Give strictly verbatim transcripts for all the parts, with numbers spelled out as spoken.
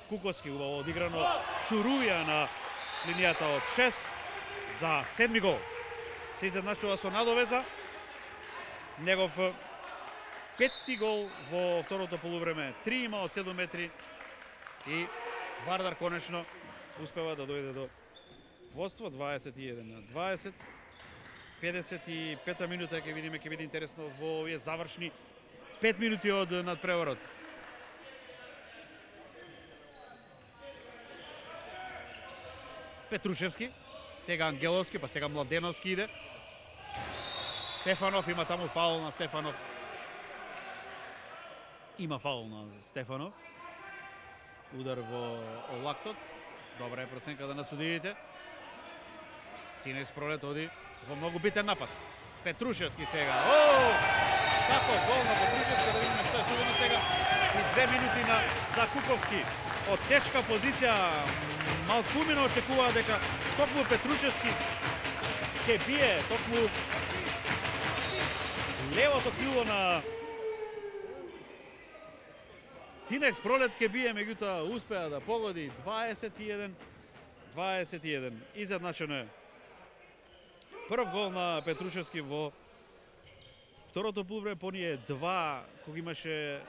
Куковски убаво одиграно, Чурувија на линијата од шест за седми гол. Се изедначува со надовеза. Негов петти гол во второто полувреме. Три има од седум метри и Вардар конечно успева да дојде до водство дваесет и еден на дваесет. педесет и пета минута ќе видиме, ќе биде интересно во овие завршни пет минути од надпреварот. Петрушевски, сега Ангеловски, па сега Младеновски иде. Стефанов има таму фаул на Стефанов. Има фаул на Стефанов. Удар во лактот. Добра е проценката на судиите. Тинекс Пролет оди во многу битен напад. Петрушевски сега. О! Како гол на Петрушевски, да видиме што е судено сега. И две минути на за Куковски. Од тешка позиција малкумина очекуваа дека токму Петрушевски ќе бие токму левото крило на Тинекс Пролет ќе бие, меѓутоа успеа да погоди дваесет и еден дваесет и еден. Изедначено е. Прв гол на Петрушевски во второто полувреме, по ние два кога имаше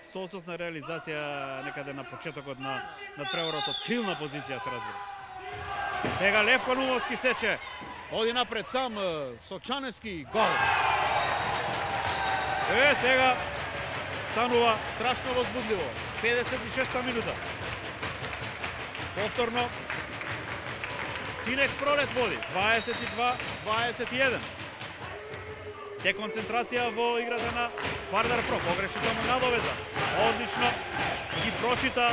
сто одстотна реализација некаде на почетокот на надпреварот од крилна позиција, се разбира. Сега Левко Нумовски сече, оди напред сам Сочаневски, гол. Е, сега станува страшно возбудливо. педесет и шеста минута. Повторно Тинекс Пролет води дваесет и два дваесет и еден. Деконцентрација во играта на Вардар Про. Погреши таму надовеза. Одлично ги прочита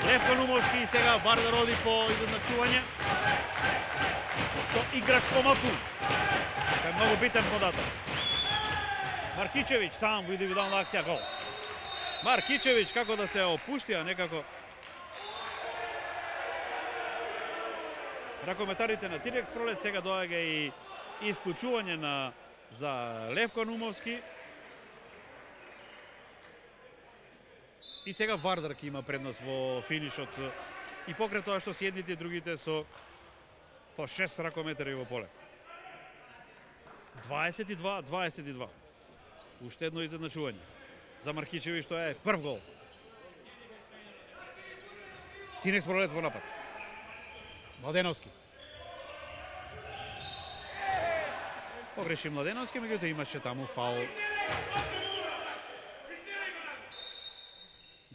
Левко Нумовски и сега Вардар оди по изедначување со играч помалку. Тоа е многу битен податок. Маркичевиќ сам во индивидуална акција, гол. Маркичевиќ како да се опуштија некако. Ракометарите на Тинекс Пролет, сега доаѓа и исклучување на за Левко Нумовски. И сега Вардар ќе има предност во финишот и покрај тоа што си едните и другите со по шест ракометари во поле. дваесет и два дваесет и два. Уште едно изедначување за Маркичевиќ, што е прв гол. Тинекс Пролет во напад. Младеновски. Погреши Младеновски, меѓутоа имаше таму фаул.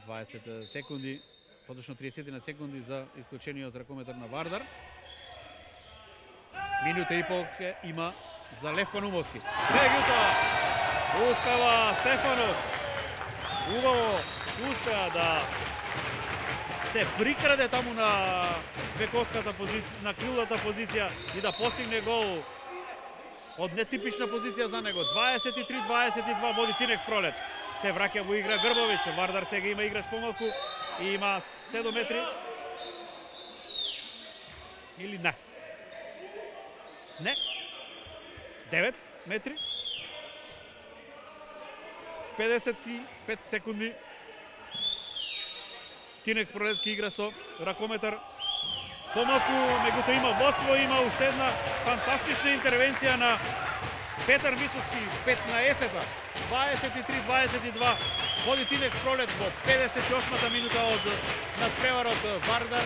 дваесет секунди, поточно триесет на секунди за исклучениот ракометар на Вардар. Минута и пол има за Левко Нумовски. Меѓутоа успева Стефанов. Убаво успеа да се прикраде таму на бековската позиција, на крилната позиција и да постигне гол од нетипична позиција за него. дваесет и три дваесет и два води Тинекс Пролет. Се враќа во игра Грбовиќ. Вардар сега има играч помалку и има седум метри. Или не? Не. девет метри. педесет и пет секунди. Тинекс Пролет ки игра со ракометар помалку, меѓутоа има водство, има уште една фантастична интервенција на Петар Мисовски, петнаесета, дваесет и три дваесет и два. Води Тинекс Пролет во педесет и осмата минута од надпреварот. Вардар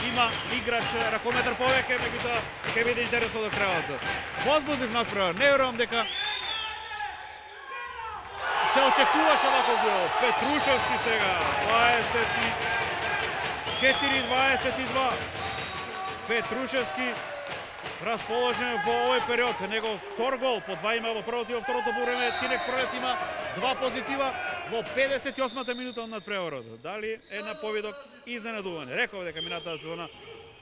има играч ракометар повеќе, меѓутоа ќе биде интересно до крајот. Возбудлив надпревар, не верувам дека се очекуваше ваков гол. Петрушевски сега, дваесет и четири дваесет и два. Петрушевски расположен во овој период. Негов втор гол, по два има во првото и во второто полувреме. Тинекс Пролет има два позитива во педесет и осмата минута од надпреварот. Дали е на победок изненадување. Реков дека минатата сезона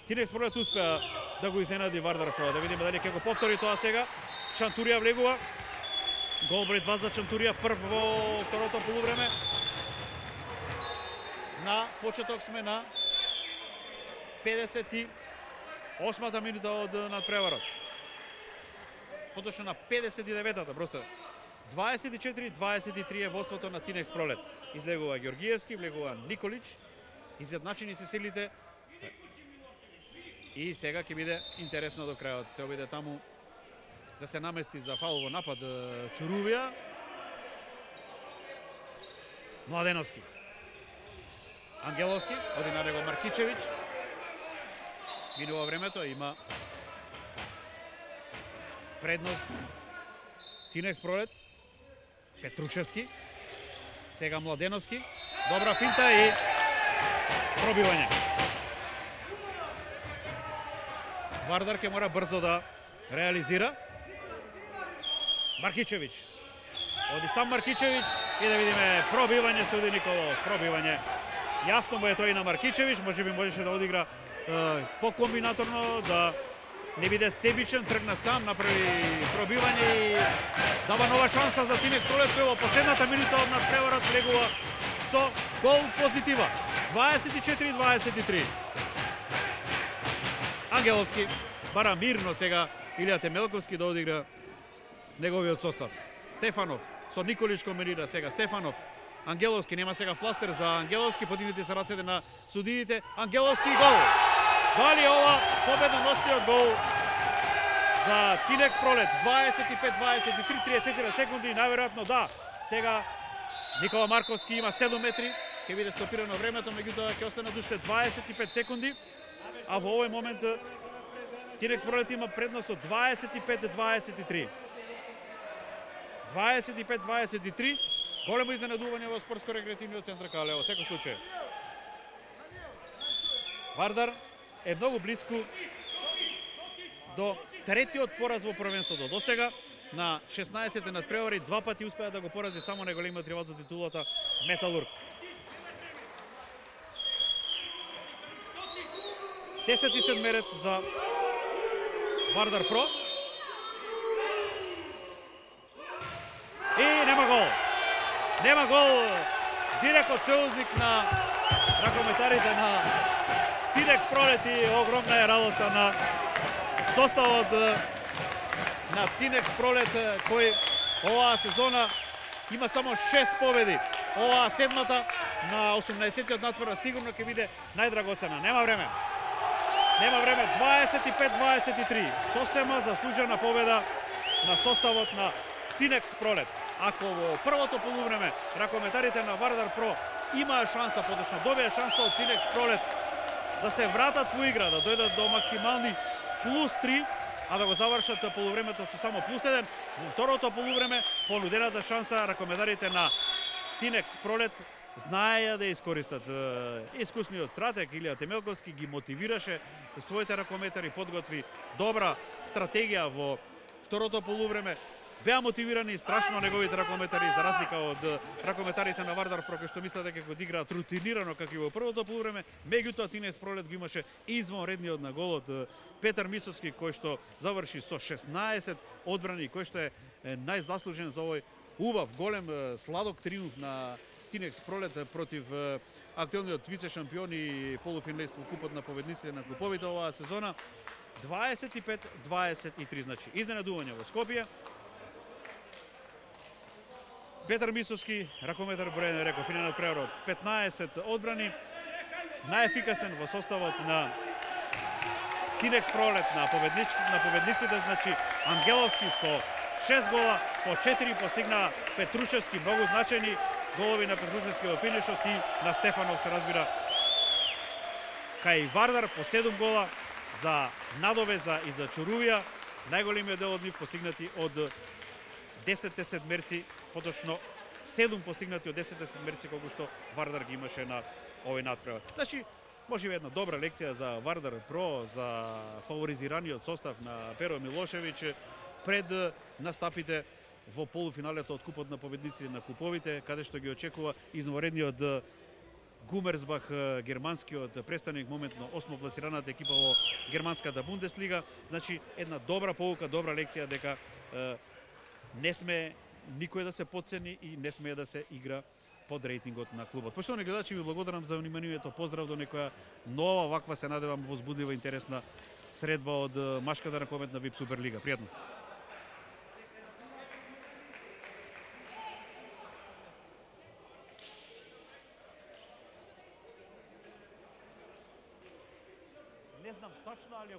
Тинекс Пролет успеа да го изненади Вардар Про. Да видиме дали ќе го повтори тоа сега. Чантурија влегува. Гол број два за Чантурија, прв во второто полувреме. На почеток сме на педесет и осмата минута од надпреварот. Поточно на педесет и деветата, просто дваесет и четири дваесет и три е водството на Тинекс Пролет. Излегува Ѓоргиевски, влегува Николич. изедначени се силите. И сега ќе биде интересно до крајот. Се обиде таму да се намести за фаул во напад Чурувија. Младеновски. Ангеловски, оди на него Маркичевиќ. Минува времето, има предност Тинекс Пролет. Петрушевски. Сега Младеновски. Добра финта и пробивање. Вардар ќе мора брзо да реализира. Маркичевиќ. Оди сам Маркичевиќ и да видиме пробивање со Оди Николов. Пробивање. Јасно му е тој на Маркичевиќ, можеби можеше да одигра е, по-комбинаторно, да не биде себичен, тргна сам, направи пробивање и дава нова шанса за Тинекс Пролет, кој во последната минута од надпреварот влегува со гол позитива. дваесет и четири дваесет и три. Ангеловски бара мирно сега Илија Темелковски да одигра неговиот состав. Стефанов со Николич комбинира сега. Стефанов, Ангеловски, нема сега фластер за Ангеловски, подигнати се рацете на судиите. Ангеловски гол. Дали ова победоносниот гол за Тинекс Пролет? дваесет и пет дваесет и три, триесет секунди, најверојатно да. Сега Никола Марковски има седум метри, ќе биде стопирано времето, меѓутоа ќе остане уште дваесет и пет секунди, а во овој момент Тинекс Пролет има предност од дваесет и пет дваесет и три. дваесет и пет дваесет и три. Големо изненадување во спортско-рекреативниот центар Калево, во секој случај. Вардар е многу близко до третиот пораз во првенството. До сега на шеснаесет надпревари два пати успеа да го порази само најголемиот ривал за титулата Металург. десет и седмерец за Вардар Про. И нема гол. Нема гол. Директот сојузник на ракометарите на Тинекс Пролет и огромна е радоста на составот на Тинекс Пролет, кој оваа сезона има само шест победи. Оваа седмата на осумнаесеттиот надпревар сигурно ќе биде најдрагоцена. Нема време. Нема време. дваесет и пет дваесет и три. Сосема заслужена победа на составот на Тинекс Пролет. Ако во првото полувреме ракометарите на Вардар Про имаа шанса, подочно добија шанса од Тинекс Пролет да се вратат во игра, да дојдат до максимални плюс три, а да го завршат полувремето со само плюс еден, во второто полувреме понудената шанса ракометарите на Тинекс Пролет знаеја да искористат. Искусниот стратег Илија Темелковски ги мотивираше своите ракометари, подготви добра стратегија во второто полувреме. Беа мотивирани страшно неговите ракометари, за разлика од ракометарите на Вардар Про, кои што мислат дека го одиграат рутинирано како и во првото полувреме. Меѓутоа Тинекс Пролет го имаше извонредниот на голот Петар Мисовски, кој што заврши со шеснаесет одбрани, кој што е најзаслужен за овој убав, голем, сладок триумф на Тинекс Пролет против актуелниот вице-шампион и полуфиналист во купот на победниците на клуповите оваа сезона. дваесет и пет дваесет и три, значи изненадување во Скопје. Петар Мисовски, ракометар бројен реков, финал надпреварот, петнаесет одбрани, најефикасен во составот на Тинекс Пролет, на победниците, на победниците, значи Ангеловски со шест гола, по четири постигна Петрушевски, многу значајни голови на Петрушевски во финишот и на Стефанов се разбира. Кај Вардар по седум гола за надовеза и за Чурувија, најголемиот дел од нив постигнати од десетте седмерци, поточно седум постигнати од десетте седмерци колку што Вардар ги имаше на овој надпревар. Значи, може би една добра лекција за Вардар Про, за фаворизираниот состав на Перо Милошевиќ пред настапите во полуфиналето од купот на победниците на куповите, каде што ги очекува извонредниот Гумерсбах, германскиот престаник, моментно осмо пласираната екипа во германската Бундеслига. Значи, една добра поука, добра лекција дека е, не сме никој да се потцени и не смее да се игра под рейтингот на клубот. Поштовани гледачи, ви благодарам за вниманието. Поздрав до некоја нова, ваква се надевам возбудлива, интересна средба од машката ракометна ВИП Суперлига. Пријатно. не знам точно, али